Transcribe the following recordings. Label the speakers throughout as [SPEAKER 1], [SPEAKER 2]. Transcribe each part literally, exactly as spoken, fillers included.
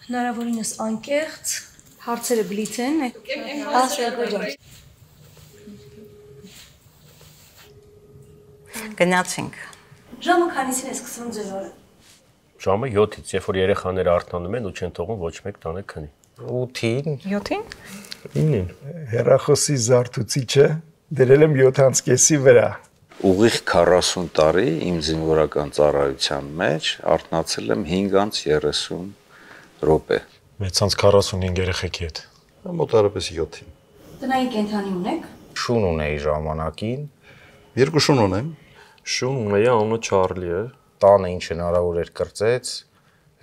[SPEAKER 1] Հնարավորինս անկեղծ, հարցերը բլիթ են, ասերգոջան։
[SPEAKER 2] Գնացինք։
[SPEAKER 1] Ժամը քանիսին է սկսվում ձեր օրը։
[SPEAKER 3] Ժամը յոթից, երբ որ երեխաները արթնանում են ու չեն թողում ոչ մեկ տանը քնի։
[SPEAKER 4] ութին,
[SPEAKER 2] յոթին։
[SPEAKER 4] ինին։
[SPEAKER 5] Հեռախոսի զարթուցիչը դրել եմ յոթ կեսի վրա։
[SPEAKER 6] Ուղիղ քառասուն տարի իմ զինվորական ծառայության մեջ արթնացել եմ հինգ երեսուն րոպե։
[SPEAKER 7] մեծ քառասունհինգ երեխեքի հետ։
[SPEAKER 5] Մոտարապես յոթին։
[SPEAKER 1] Տնային կենդանի ունեք։
[SPEAKER 4] Շուն ունեի ժամանակին։
[SPEAKER 5] Երկու շուն ունեմ։
[SPEAKER 7] Շուն ունեի, անունը Չարլի է։
[SPEAKER 4] Տանը ինչ հնարավոր էր կրծեց,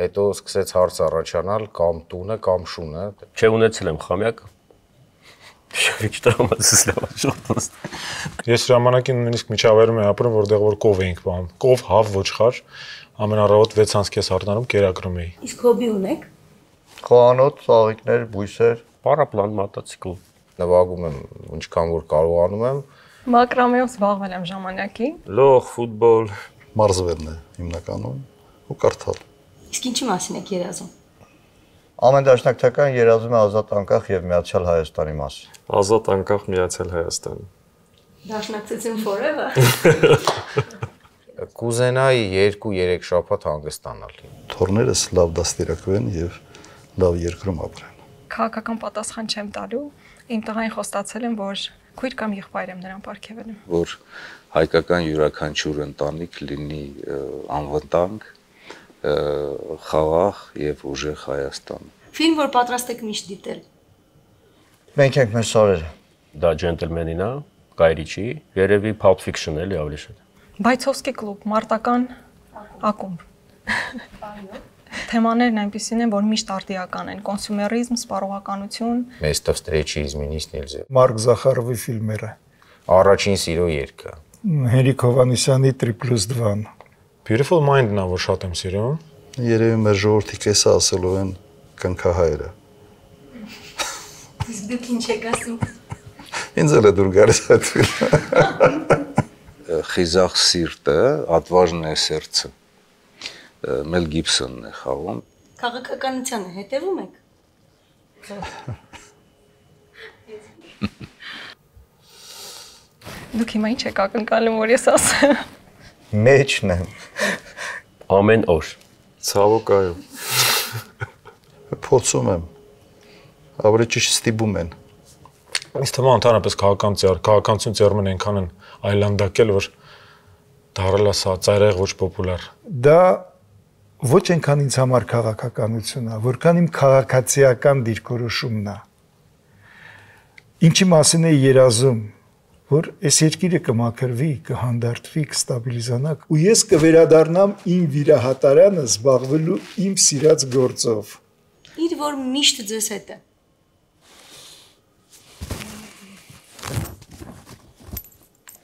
[SPEAKER 4] հետո սկսեց հարց առաջանալ կամ տունը կամ շունը։
[SPEAKER 3] Չէ ունեցել եմ խամյակ։ Շավիչ տրամածս լավ շուտ։
[SPEAKER 7] Ես ժամանակին նույնիսկ միջավայրում եմ ապրում, որտեղ որ կով էինք բան։ Կով, հավ, ոչխար, ամեն առավոտ վեց անց հառնանում կերակրում էի։
[SPEAKER 1] Իսկ հոբի ունեք։
[SPEAKER 5] Խոհանոց, ծաղիկներ, բույսեր։
[SPEAKER 3] Պարապլան, մոտոցիկլ։
[SPEAKER 4] Նվագում եմ ինչքան որ կարողանում եմ։
[SPEAKER 2] Մակրամեով զբաղվել եմ ժամանակին։
[SPEAKER 7] Լող, ֆուտբոլ,
[SPEAKER 5] Մարզվելն է հիմնականում ու կարդալ։
[SPEAKER 1] Իսկ ինչի մասին եք երազում։
[SPEAKER 5] Ամեն դաշնակցական երազում է ազատ անկախ եւ միացյալ Հայաստանի մասին։
[SPEAKER 7] ազատ անկախ միացյալ Հայաստան։
[SPEAKER 1] Դաշնակցություն forever։
[SPEAKER 4] Կուզենայի երկու-երեք շաբաթ հանգստանալ։
[SPEAKER 5] Թորներս լավ դաստիարակվեն եւ լավ երկրում ապրեն։
[SPEAKER 2] Քաղաքական պատասխան չեմ տալու։ Իմ տղային խոստացել եմ, որ քույր կամ եղբայր եմ նրան պարգևել եմ։
[SPEAKER 6] Որ հայկական յուրաքանչյուր ընտանիք լինի անվտանգ, խաղաղ եւ ուժեղ Հայաստան։
[SPEAKER 1] Ֆիլմ, որ պատրաստ եք միշտ դիտել։
[SPEAKER 5] Մենք ենք մեր սարերը։
[SPEAKER 3] Դա ջենտլմենին է, Guy Ritchie, երևի Pulp Fiction էլի ավելի շատ։
[SPEAKER 2] Բայցովսկի կլուբ, մարտական ակումբ։ Թեմաներն այնպիսին են, որ միշտ արդիական են, կոնսյումերիզմ, սպառողականություն։
[SPEAKER 4] Место встречи изменить нельзя։
[SPEAKER 5] Մարկ Զախարովի ֆիլմերը։
[SPEAKER 4] Առաջին սիրո երգը։
[SPEAKER 5] Հենրիկ Հովանեսյանի три плюс два։
[SPEAKER 7] Beautiful Mind-ն է, որ շատ եմ սիրում։
[SPEAKER 5] Երևի մեր ժողովրդի կեսը ասելու են կնքահայրը։
[SPEAKER 1] Իսկ դուք ինչ եք ասում։
[SPEAKER 5] Ինձ էլ է դուր գալիս այդ ֆիլմը։
[SPEAKER 6] Խիզախ սիրտը, Отважное сердце։ Մել Գիբսոնն է խաղում։
[SPEAKER 1] Քաղաքականությանը հետևում եք։
[SPEAKER 2] Դուք հիմա ինչ եք ակնկալում, որ ես ասեմ։
[SPEAKER 5] Մեջն եմ։
[SPEAKER 3] Ամեն օր։
[SPEAKER 7] Ցավոք այո։
[SPEAKER 5] Փորձում եմ։ Ավելի ճիշտ ստիպում են։
[SPEAKER 7] Ինձ թվում է ընդհանրապես քաղաքական ծեր, քաղաքականություն ծերմեն այնքան են այլանդակել, որ դարել է սա ծայրահեղ ոչ պոպուլար։
[SPEAKER 5] Դա ոչ այնքան ինձ համար քաղաքականությունն է, որքան իմ քաղաքացիական դիրքորոշումն է։ Ինչի մասին է երազում, որ այս երկիրը կմաքրվի, կհանդարտվի, կստաբիլիզանա, ու ես կվերադառնամ իմ վիրահատարանը զբաղվելու իմ սիրած գործով։
[SPEAKER 1] Իր որ միշտ ձեզ հետ է։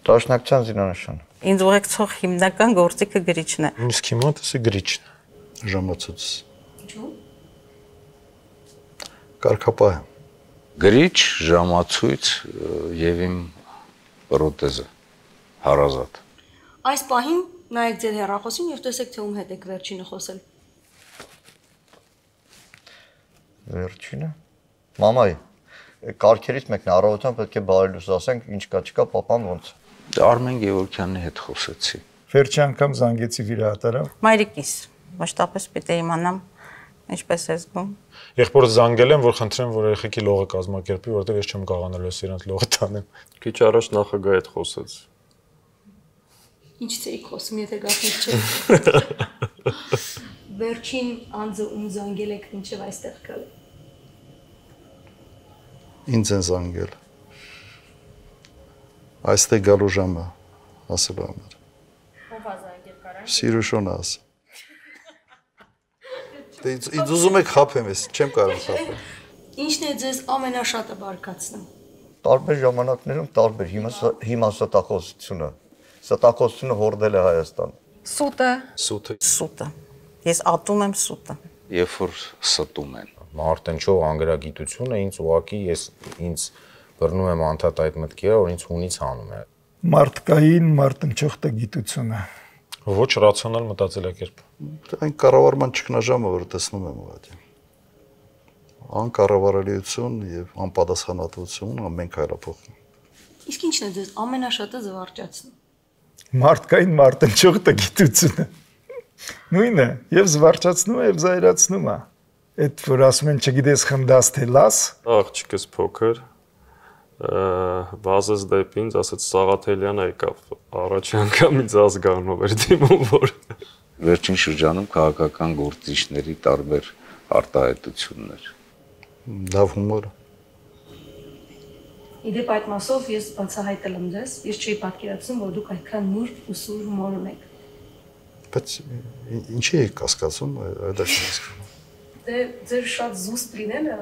[SPEAKER 5] Դաշնակցության զինանշան։
[SPEAKER 2] Ինձ ուղեկցող հիմնական գործիքը գրիչն է։
[SPEAKER 7] Իսկ հիմա տեսի գրիչն է։
[SPEAKER 5] Ժամացույց։
[SPEAKER 1] Ինչու՞։
[SPEAKER 5] Կարգապահ եմ։
[SPEAKER 6] Գրիչ, ժամացույց եւ իմ պրոթեզը հարազատ։
[SPEAKER 1] Այս պահին նայեք ձեր հեռախոսին եւ տեսեք թե ում հետ եք վերջինը խոսել։
[SPEAKER 5] Վերջինը։ Մամայ, կարգերից մեկն է, առավոտյան պետք է բարելույս ասենք, ինչ կա չկա, papan ոնց։
[SPEAKER 6] Արմեն Գևորգյանի հետ խոսեցի։
[SPEAKER 5] Վերջի անգամ զանգեցի վիրահատարան։
[SPEAKER 2] Մայրիկիս, ոչ պիտի իմանամ ինչպես է զգում։
[SPEAKER 7] Եղբորը զանգել եմ, որ խնդրեմ, որ երեխեքի լողը կազմակերպի, որովհետև ես չեմ կարողանալու իրենց լողը տանեմ։
[SPEAKER 8] Քիչ առաջ նախագահի հետ խոսեց։
[SPEAKER 1] Ինչ ցեի խոսում, եթե գախնիկ չէ։ Վերջին անձը ում զանգել եք ինչև այստեղ գալ։
[SPEAKER 5] Ինձ են զանգել։ Այստեղ գալու ժամը ասելու համար։
[SPEAKER 1] Ով է զանգել կարա։
[SPEAKER 5] Սիրուշոն աս։ Դե ինձ ուզում եք խափեմ ես, չեմ կարող խափել։
[SPEAKER 1] Ինչն է ձեզ ամենաշատը բարկացնում։
[SPEAKER 5] Տարբեր ժամանակներում տարբեր հիմա հիմա ստախոսությունը։ Ստախոսությունը հորդել է Հայաստան։
[SPEAKER 2] Սուտը։
[SPEAKER 7] Սուտը։
[SPEAKER 2] Սուտը։ Ես ատում եմ սուտը։
[SPEAKER 6] Երբ որ ստում են։
[SPEAKER 4] Մարտնչող անգրագիտությունը ինձ ուղակի ես ինձ բռնում եմ անդադ այդ մտքերը, որ ինձ հունից հանում է։
[SPEAKER 5] Մարդկային մարտնչող տգիտությունը։
[SPEAKER 7] Ոչ ռացիոնալ մտածելակերպ։
[SPEAKER 5] Այն կառավարման ճգնաժամը, որ տեսնում եմ ուղղակի։
[SPEAKER 9] անկառավարելիություն եւ անպատասխանատվություն ամեն քայլափոխում։
[SPEAKER 1] Իսկ ինչն է ձեզ ամենաշատը զվարճացնում։
[SPEAKER 5] Մարդկային մարտնչող տգիտությունը։ Նույնը, եւ զվարճացնում է, եւ զայրացնում է։ Այդ որ ասում են, չգիտես խնդաս թե լաս։
[SPEAKER 8] Աղջիկս փոքր վազեց դեպի ինձ, ասեց Սաղաթելյանը եկավ։ Առաջի անգամ ինձ ազգանով էր դիմում, որ
[SPEAKER 6] վերջին շրջանում քաղաքական գործիչների տարբեր արտահայտություններ։
[SPEAKER 9] Լավ հումոր։
[SPEAKER 1] Իդեպ այդ մասով ես բացահայտել եմ ձեզ, ես չի պատկերացնում, որ դուք այդքան նուրբ ու սուր հումոր ունեք։
[SPEAKER 9] Բայց ինչի եք կասկածում, այդ է հասկանում։
[SPEAKER 1] Դե ձեր շատ զուսպ լինելը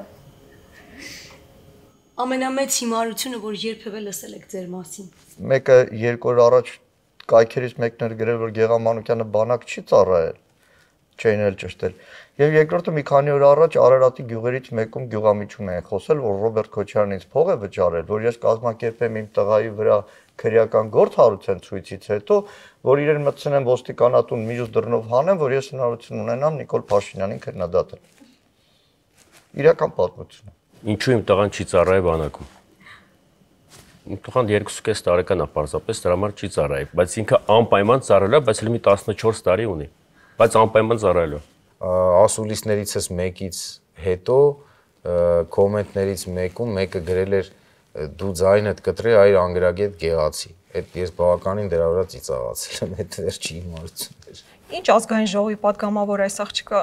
[SPEAKER 1] ամենամեծ հիմարությունը, որ երբևէ լսել եք ձեր մասին։
[SPEAKER 10] Մեկը երկու օր առաջ կայքերից մեկն էր գրել, որ Գեղամանուկյանը բանակ չի ծառայել, չէին էլ ճշտել։ Եվ երկրորդը մի քանի օր առաջ Արարատի գյուղերից մեկում գյուղամիջում են խոսել, որ Ռոբերտ Քոչարյանից փող է վճարել, որ ես կազմակերպեմ իմ տղայի վրա քրեական գործ հարուցեն ցույցից հետո, որ իրեն մտցնեմ ոստիկանատուն մյուս դռնով հանեմ, որ ես հնարավորություն ունենամ Նիկոլ Փաշինյանին քննադատել։ Իրական պատմություն է։
[SPEAKER 3] Ինչու իմ տղան չի ծառայել բանակում։ Իմ տղան երկուսուկես տարեկան է պարզապես, դրա համար չի ծառայել, բայց ինքը անպայման ծառայել է, բայց էլ մի տասնչորս տարի ունի, բայց անպայման ծառայել է։
[SPEAKER 4] Ասուլիսներիցս մեկից հետո կոմենտներից մեկում մեկը գրել էր դու ձայնդ կտրի այր անգրագետ գեղացի։ Այդ ես բավականին դրա վրա ծիծաղացել եմ, այդ վերջի իմացություններ։
[SPEAKER 2] Ինչ ազգային ժողովի պատգամավոր այս աղջիկը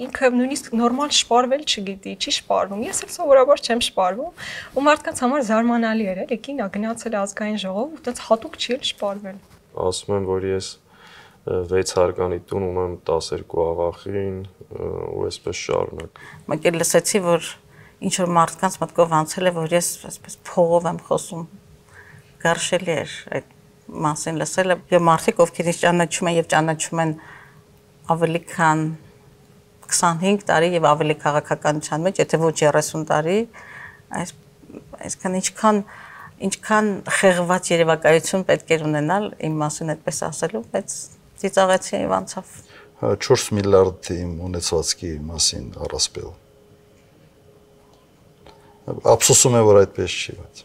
[SPEAKER 2] ինքը նույնիսկ նորմալ շպարվել չգիտի, չի շպարվում։ Ես էլ սովորաբար չեմ շպարվում, ու մարդկանց համար զարմանալի էր, էլի կինա գնացել ազգային ժողով ու այդպես հատուկ չի էլ շպարվել։
[SPEAKER 8] ասում եմ, որ ես վեց հարկանի տուն ունեմ տասներկու աղախին ու այսպես շարունակ։
[SPEAKER 11] Մենք էլ լսեցի, որ ինչ որ մարդկանց մտքով անցել է, որ ես այսպես փողով եմ խոսում։ Գարշելի էր այդ մասին լսելը, եւ մարդիկ ովքեր ինձ ճանաչում են եւ ճանաչում են ավելի քան քսանհինգ տարի եւ ավելի քաղաքականության մեջ, եթե ոչ երեսուն տարի, այս այսքան ինչքան ինչքան խեղված երևակայություն պետք է ունենալ իմ մասին այդպես ասելու, բայց ծիծաղեցի եւ անցավ։
[SPEAKER 9] չորս միլիարդ իմ ունեցվածքի մասին առասպել։ Ափսոսում եմ, որ այդպես չի, բայց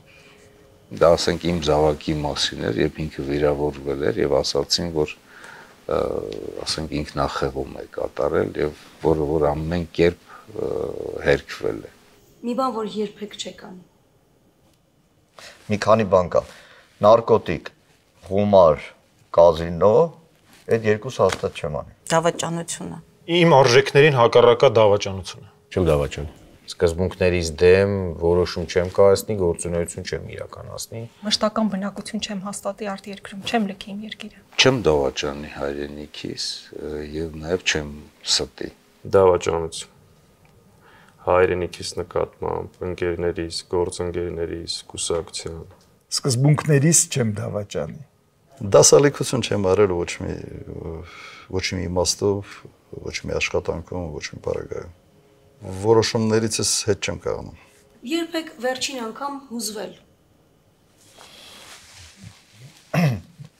[SPEAKER 6] դա ասենք իմ զավակի մասին էր, երբ ինքը վիրավորվել էր եւ ասացին, որ ասենք ինքնախեղում է կատարել եւ որը որ ամեն կերպ հերքվել է։
[SPEAKER 1] Մի բան, որ երբեք չեք անի։
[SPEAKER 10] Մի քանի բան կա։ Նարկոտիկ, գումար, կազինո, այդ երկուսը հաստատ չեմ անի։
[SPEAKER 11] Դավաճանությունը։
[SPEAKER 7] Իմ արժեքներին հակառակա դավաճանությունը։
[SPEAKER 3] Չեմ դավաճան։
[SPEAKER 4] Սկզբունքներից դեմ որոշում չեմ կայացնի, գործունեություն չեմ իրականացնի։
[SPEAKER 2] Մշտական բնակություն չեմ հաստատի արտերկրում, չեմ լքի իմ երկիրը։
[SPEAKER 6] Չեմ դավաճանի հայրենիքիս եւ նաեւ չեմ ստի։
[SPEAKER 8] Դավաճանություն։ Հայրենիքիս նկատմամբ, ընկերներիս, գործընկերներիս, կուսակցության։
[SPEAKER 5] Սկզբունքներից չեմ դավաճանի։
[SPEAKER 9] Դասալիքություն չեմ արել ոչ մի ոչ մի իմաստով, ոչ մի աշխատանքում, ոչ մի բարագայում։ Որոշումներիցս հետ չեմ կաղնում։
[SPEAKER 1] Երբեք վերջին անգամ հուզվել։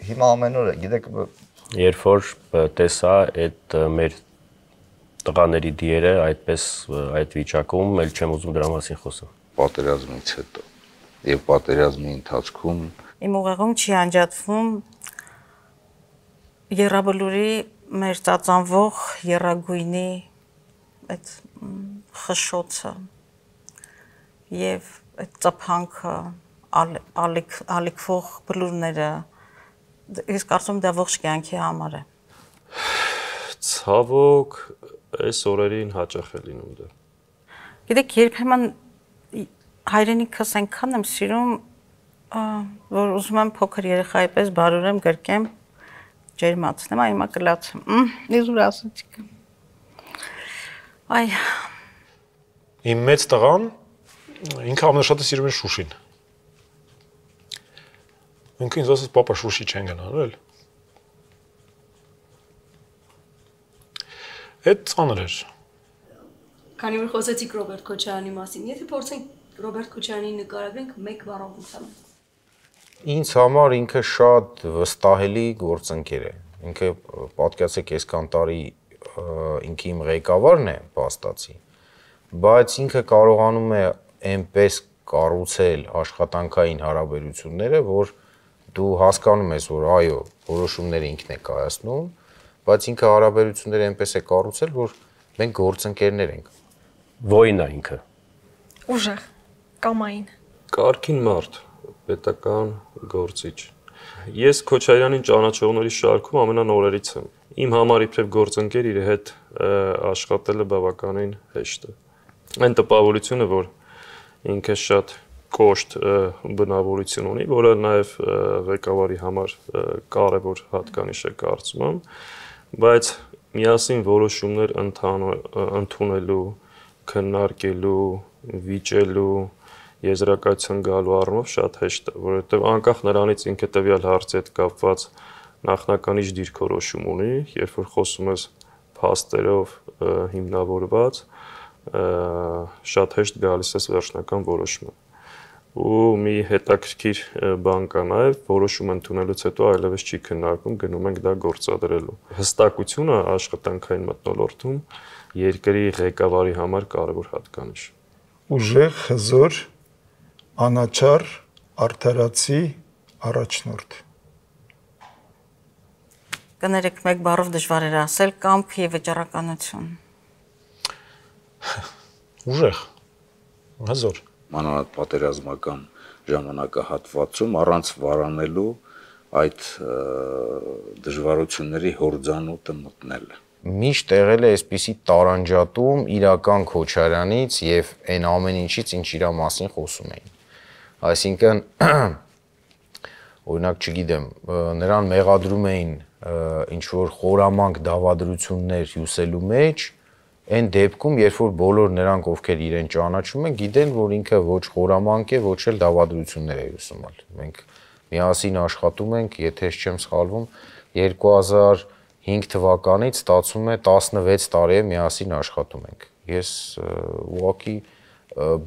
[SPEAKER 10] Հիմա ամեն օր է, գիտեք,
[SPEAKER 3] երբ որ տեսա այդ մեր տղաների դիերը այդպես այդ վիճակում, էլ չեմ ուզում դրա մասին խոսել։
[SPEAKER 6] Պատերազմից հետո եւ պատերազմի ընթացքում
[SPEAKER 11] Իմ ուղեղում չի անջատվում Եռաբլուրի մեր ծածանվող եռագույնի այդ խշշոցը եւ այդ ծափանքը ալիք ալիքվող բլուրները ես կարծում դա ողջ կյանքի համար է։
[SPEAKER 8] Ցավոք այս օրերին հաճախ է լինում դա։
[SPEAKER 11] Գիտեք, երբեմն հայրենիքս այնքան եմ սիրում, որ ուզում եմ փոքր երեխայի պես բարուրեմ գրկեմ, ջերմացնեմ, այ հիմա կլացեմ։ Իզուր ասացիք։ Այ
[SPEAKER 7] Իմ մեծ տղան ինքը ամենաշատը սիրում է Շուշին։ Ինքը ինձ ասաց, պապա Շուշի չեն գնալու էլ։ Այդ ծանր էր։
[SPEAKER 1] Քանի որ խոսեցիք Ռոբերտ Քոչարյանի մասին, եթե փորձենք Ռոբերտ Քոչարյանի նկարագրենք մեկ բառով ուսանանք։
[SPEAKER 4] Ինձ համար ինքը շատ վստահելի գործընկեր է։ Ինքը պատկերացեք այսքան տարի ինքը իմ ղեկավարն է, փաստացի, բայց ինքը կարողանում է այնպես կառուցել աշխատանքային հարաբերությունները, որ դու հասկանում ես, որ այո, որոշումները ինքն է կայացնում, բայց ինքը հարաբերությունները այնպես է կառուցել, որ մենք գործընկերներ ենք։
[SPEAKER 3] Ոյն է ինքը։
[SPEAKER 2] Ուժեղ, կամային։
[SPEAKER 8] Կարգին մարդ, պետական գործիչ։ Ես Քոչարյանին ճանաչողների շարքում ամենանորերից եմ։ Իմ համար իբրև գործընկեր իր հետ աշխատելը բավականին հեշտ է։ Այն տպավորությունը, որ ինքը շատ կոշտ բնավորություն ունի, որը նաև ղեկավարի համար կարևոր հատկանիշ է կարծում եմ, բայց միասին որոշումներ ընդունելու, քննարկելու, վիճելու, եզրակացության գալու առումով շատ հեշտ է, որովհետև անկախ նրանից ինքը տվյալ հարցի հետ կապված նախնականիչ դիրքորոշում ունի, երբ որ խոսում ես փաստերով հիմնավորված, շատ հեշտ գալիս ես վերջնական որոշումը։ Ու մի հետաքրքիր բան կա նաև, որոշում ընդունելուց հետո այլևս չի քննարկում, գնում ենք դա գործադրելու։ Հստակությունը աշխատանքային մթնոլորտում երկրի ղեկավարի համար կարևոր հատկանիշ։
[SPEAKER 5] Ուժեղ, հզոր, անաչառ, արդարացի, առաջնորդ։
[SPEAKER 11] Կներեք մեկ բառով դժվար էր ասել կամք եւ վճռականություն։
[SPEAKER 7] Ուժեղ, հզոր։
[SPEAKER 6] Մանավանդ պատերազմական ժամանակահատվածում առանց վարանելու այդ դժվարությունների հորձանուտը մտնելը։
[SPEAKER 4] Միշտ եղել է այսպիսի տարանջատում իրական Քոչարյանից եւ այն ամեն ինչից, ինչ իր մասին խոսում էին։ Այսինքն օրինակ, չգիտեմ, նրան մեղադրում էին ինչ որ խորամանկ դավադրություններ հյուսելու մեջ, այն դեպքում, երբ որ բոլոր նրանք, ովքեր իրեն ճանաչում են, գիտեն, որ ինքը ոչ խորամանկ է, ոչ էլ դավադրություններ է հյուսումալ։ Մենք միասին աշխատում ենք, եթե չեմ սխալվում, երկու հազար հինգ թվականից ստացվում է տասնվեց տարի է միասին աշխատում ենք։ Ես ուղղակի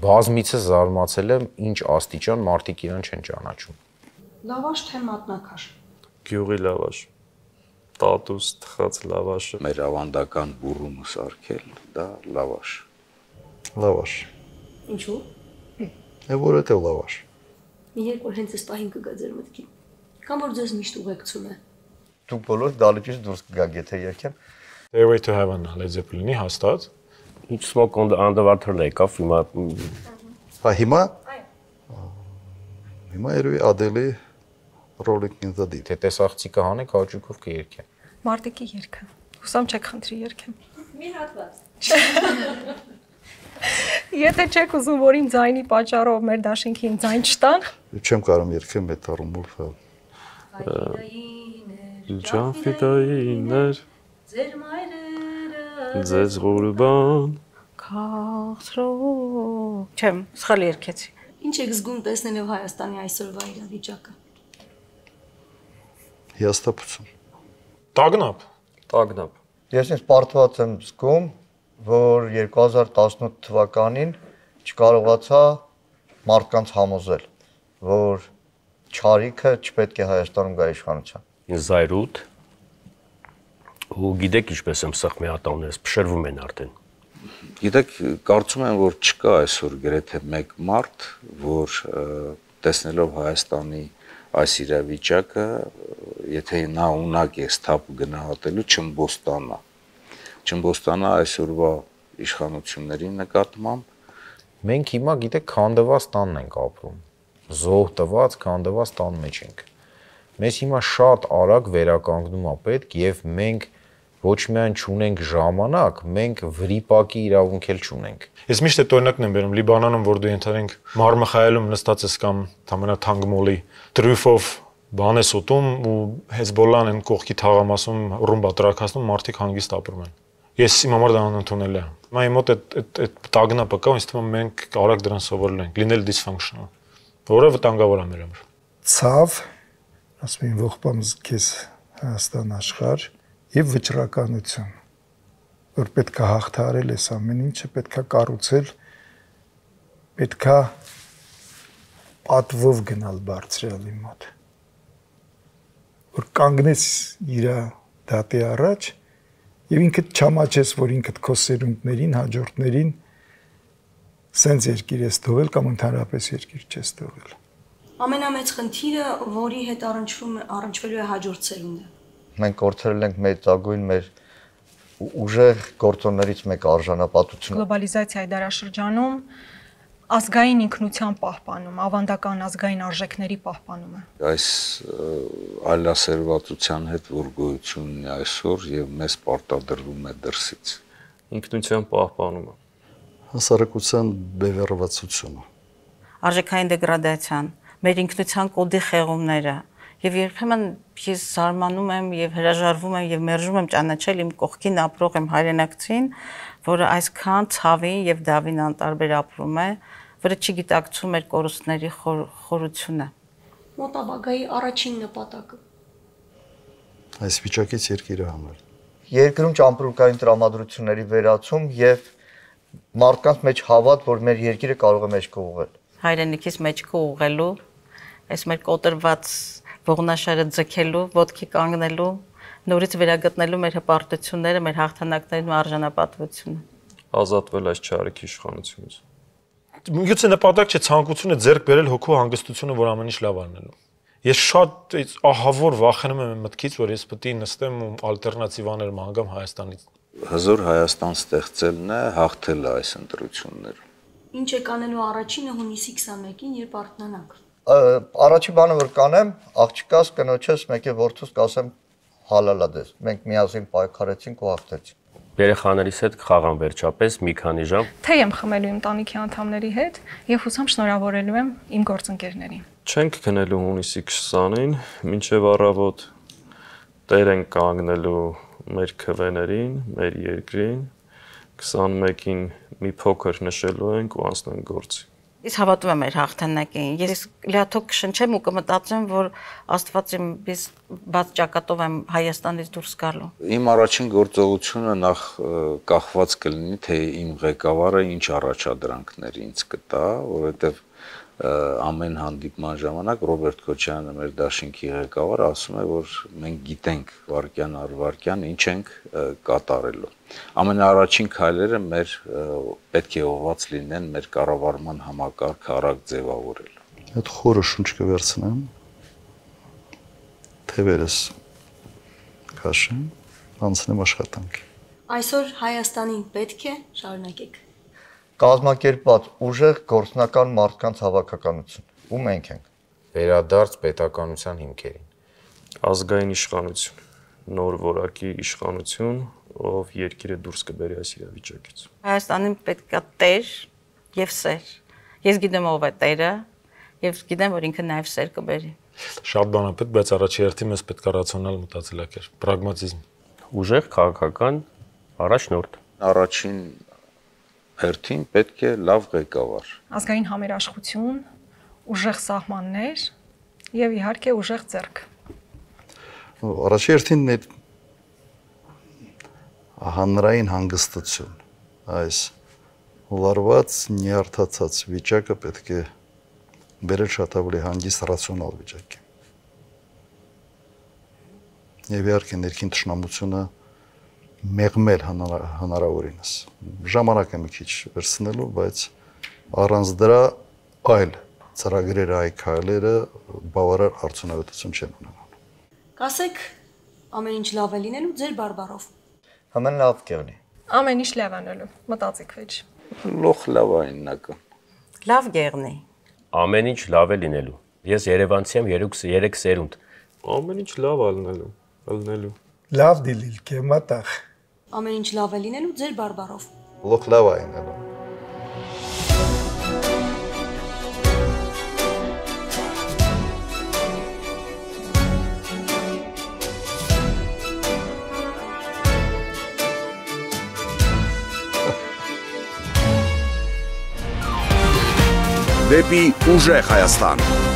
[SPEAKER 4] բազմիցս զարմացել եմ, ինչ աստիճան մարդիկ իրան չեն ճանաչում։
[SPEAKER 1] Լավաշ թե մատնաքաշ։
[SPEAKER 8] Գյուղի լավաշ։ Տատուս թխած լավաշը։
[SPEAKER 6] Մեր ավանդական բուրումը սարքել, դա լավաշ։
[SPEAKER 9] Լավաշ։
[SPEAKER 1] Ինչու՞։
[SPEAKER 9] Է որովհետև լավաշ։
[SPEAKER 1] Մի երկու հենց այս պահին կգա ձեր մտքին։ Կամ որ ձեզ միշտ ուղեկցում է։
[SPEAKER 10] Դուք բոլոր դալիճից դուրս կգաք, եթե երգեմ։
[SPEAKER 7] Stairway to Heaven Led Zeppelin-ի հաստատ։
[SPEAKER 3] Ինչ Smoke on the Underwater-ն եկավ հիմա։
[SPEAKER 9] Հա հիմա։ Հիմա երևի Adele-ի Rolling in the Deep։
[SPEAKER 4] Թե տեսախցիկը հանեք, հաճույքով կերքեմ։
[SPEAKER 2] Մարտիկի երգը։ Հուսամ չեք խնդրի երգեմ։
[SPEAKER 1] Մի հատված։
[SPEAKER 2] Եթե չեք ուզում, որ իմ ձայնի պատճառով մեր դաշինքին ձայն չտան,
[SPEAKER 9] Չեմ կարող երգել այդ առումով։
[SPEAKER 8] Ջանֆիդայիններ,
[SPEAKER 1] Ձեր մայրերը,
[SPEAKER 8] ձեզ ղուրբան,
[SPEAKER 11] Քաղցրո։ Չեմ, սխալ երգեցի։
[SPEAKER 1] Ինչ եք զգում տեսնելով Հայաստանի այսօրվա իրավիճակը։
[SPEAKER 9] Հիասթափություն։
[SPEAKER 7] Տագնապ։
[SPEAKER 8] տագնապ։
[SPEAKER 10] Ես ինձ պարտված եմ զգում, որ երկու հազար տասնութ թվականին չկարողացա մարդկանց համոզել, որ չարիքը չպետք է Հայաստանում գա իշխանության։
[SPEAKER 3] Ինձ զայրույթ։ Ու գիտեք ինչպես եմ սխմի ատամներս փշրվում են արդեն։
[SPEAKER 6] Գիտեք, կարծում եմ, որ չկա այսօր գրեթե մեկ մարդ, որ տեսնելով Հայաստանի այս իրավիճակը, եթե նա ունակ է սթափ գնահատելու, չմբոստանա։ Չմբոստանա այսօրվա իշխանությունների նկատմամբ։
[SPEAKER 4] Մենք հիմա գիտեք քանդված տանն ենք ապրում։ Զոհ տված քանդված տան մեջ ենք։ Մեզ հիմա շատ արագ վերականգնում է պետք եւ մենք ոչ միայն չունենք ժամանակ, մենք վրիպակի իրավունք էլ չունենք։
[SPEAKER 7] Ես միշտ այդ օրինակն եմ բերում Լիբանանում, որ դու ենթադրենք Մարմխայելում նստած ես կամ ամենաթանկմոլի տրյուֆով բան ես ուտում ու Հեզբոլլան են կողքի թաղամասում ռումբա տրակացնում, մարդիկ հանգիստ ապրում են։ Ես իմ համար դա անընդունելի է։ Հիմա իմ մոտ այդ այդ տագնապը կա, ինձ թվում է մենք արագ դրան սովորել ենք, լինել dysfunctional, որը վտանգավոր է մեր համար։
[SPEAKER 5] Ցավ, ասում են ողբամ քեզ Հայաստան աշխարհ եւ վճռականություն, որ պետք է հաղթահարել այս ամեն ինչը, պետք է կառուցել, պետք է պատվով գնալ բարձրալի մոտ, որ կանգնես իր դատի առաջ եւ ինքդ չամաչես, որ ինքդ քո սերունդներին, հաջորդներին սենց երկիր ես թողել կամ ընդհանրապես երկիր չես թողել։
[SPEAKER 1] Ամենամեծ խնդիրը, որի հետ առնչվում է առնչվելու է հաջորդ սերունդը։
[SPEAKER 10] Մենք կորցրել ենք մեծագույն մեր ուժեղ գործոններից մեկ արժանապատությունը։
[SPEAKER 2] Գլոբալիզացիայի դարաշրջանում ազգային ինքնության պահպանում, ավանդական ազգային արժեքների պահպանումը։
[SPEAKER 6] Այս այլասերվածության հետ որ գոյությունն է այսօր եւ մեզ պարտադրվում է դրսից։
[SPEAKER 8] Ինքնության պահպանումը,
[SPEAKER 9] հասարակության բևեռվածությունը,
[SPEAKER 11] արժեքային դեգրադացիան, մեր ինքնության կոդի խեղումները, եւ երբեմն ես զարմանում եմ եւ հրաժարվում եմ եւ մերժում եմ ճանաչել իմ կողքին ապրող իմ հայրենակցին, որը այսքան ցավի եւ դավին անտարբեր ապրում է, որը չգիտակցում էր կորուստների խորությունը։
[SPEAKER 1] Մոտաբագայի առաջին նպատակը։
[SPEAKER 9] Այս վիճակից երկիրը հանել։
[SPEAKER 10] Երկրում ճամպրուկային տրամադրությունների վերացում եւ մարդկանց մեջ հավատ, որ մեր երկիրը կարող է մեջքը ուղղել։
[SPEAKER 11] Հայրենիքից մեջքը ուղղելու, այս մեր կոտրված ողնաշարը ձգելու, ոտքի կանգնելու, նորից վերագտնելու մեր հպարտությունները, մեր հաղթանակներն ու արժանապատվությունը։
[SPEAKER 8] Ազատվել այս չարիքի իշխանությունից։
[SPEAKER 7] Միգուցե նպատակ չէ ցանկությունը ձեռք բերել հոգու հանգստությունը, որ ամեն ինչ լավ անելու։ Ես շատ ահավոր վախենում եմ մտքից, որ ես պետք է նստեմ ու ալտերնատիվաներ մանգամ Հայաստանից։
[SPEAKER 6] Հզոր Հայաստան ստեղծելն է, հաղթելը այս ընտրություններում։
[SPEAKER 1] Ինչ եք անելու առաջինը հունիսի քսաներկին, երբ արթնանաք։
[SPEAKER 10] Առաջի բանը որ կանեմ, աղջկաս կնոջս մեկի որդուս կասեմ հալալադես։ Մենք միասին պայքարեցինք ու հաղթեցինք։
[SPEAKER 3] Երեխաներիս հետ կխաղամ վերջապես մի քանի ժամ։
[SPEAKER 2] Թե եմ խմելու իմ տանիքի անդամների հետ եւ հուսամ շնորհավորելու եմ իմ գործընկերներին։
[SPEAKER 8] Չենք քնելու հունիսի քսանին, մինչև առավոտ տեր ենք կանգնելու մեր քվեներին, մեր երկրին, քսանմեկին մի փոքր նշելու ենք ու անցնենք գործի։
[SPEAKER 11] Ես հավատում եմ մեր հաղթանակին։ Ես լիաթոք կշնչեմ ու կմտածեմ, որ Աստված իմ բաց ճակատով եմ Հայաստանից դուրս գալու։
[SPEAKER 6] Իմ առաջին գործողությունը նախ կախված կլինի, թե իմ ղեկավարը ինչ առաջադրանքներ ինձ կտա, որովհետև ամեն հանդիպման ժամանակ Ռոբերտ Քոչարյանը, մեր դաշինքի ղեկավարը, ասում է, որ մենք գիտենք վարքյան առ վարքյան ինչ ենք կատարելու։ Ամենաառաջին քայլերը մեր պետք է ուղղված լինեն մեր կառավարման համակարգը արագ ձևավորելու։
[SPEAKER 9] Այդ խորը շունչ կվերցնեմ, թևերս քաշեմ, անցնեմ աշխատանքի։
[SPEAKER 1] Այսօր Հայաստանին պետք է շարունակեք։
[SPEAKER 10] Կազմակերպված ուժեղ գործնական մարդկանց հավաքականություն, ու մենք ենք։
[SPEAKER 4] Վերադարձ պետականության հիմքերին։
[SPEAKER 8] Ազգային իշխանություն, նոր որակի իշխանություն, ով երկիրը դուրս կբերի այս իրավիճակից։
[SPEAKER 11] Հայաստանին պետք է տեր եւ սեր։ Ես գիտեմ ով է տերը եւ գիտեմ, որ ինքը նաեւ սեր կբերի։
[SPEAKER 7] Շատ բան է պետք, բայց առաջի հերթին մեզ պետք է ռացիոնալ մտածելակերպ, պրագմատիզմ։
[SPEAKER 3] Ուժեղ քաղաքական առաջնորդ։
[SPEAKER 6] Առաջին հերթին պետք է լավ ղեկավար։
[SPEAKER 2] Ազգային համերաշխություն, ուժեղ սահմաններ եւ իհարկե ուժեղ ձեռք։
[SPEAKER 9] Առաջի հերթին այդ հանրային հանգստություն, այս լարված, նյարդացած վիճակը պետք է բերել շատ ավելի հանգիստ ռացիոնալ վիճակի։ Եվ իհարկե ներքին թշնամությունը մեղմել հնարավորինս։ Ժամանակ է մի քիչ վերցնելու, բայց առանց դրա այլ ծրագրերը, այլ քայլերը բավարար արդյունավետություն չեն ունենալու։
[SPEAKER 1] Կասեք, ամեն ինչ լավ է լինելու ձեր բարբառով։
[SPEAKER 10] Ամեն լավ կեղնի։
[SPEAKER 2] Ամեն ինչ լավ անելու, մտածեք վեճ։
[SPEAKER 6] Լոխ լավ է իննական։
[SPEAKER 11] Լավ գեղնի։
[SPEAKER 3] Ամեն ինչ լավ է լինելու։ Ես Երևանցի եմ երեք սերունդ։
[SPEAKER 8] Ամեն ինչ լավ է լինելու, լինելու։
[SPEAKER 5] Լավ դիլիլ կեմատախ։
[SPEAKER 1] Ամեն ինչ լավ է լինելու ձեր բարբառով։
[SPEAKER 9] Լոխ լավ է լինելու։
[SPEAKER 12] Դեպի ուժեղ Հայաստան։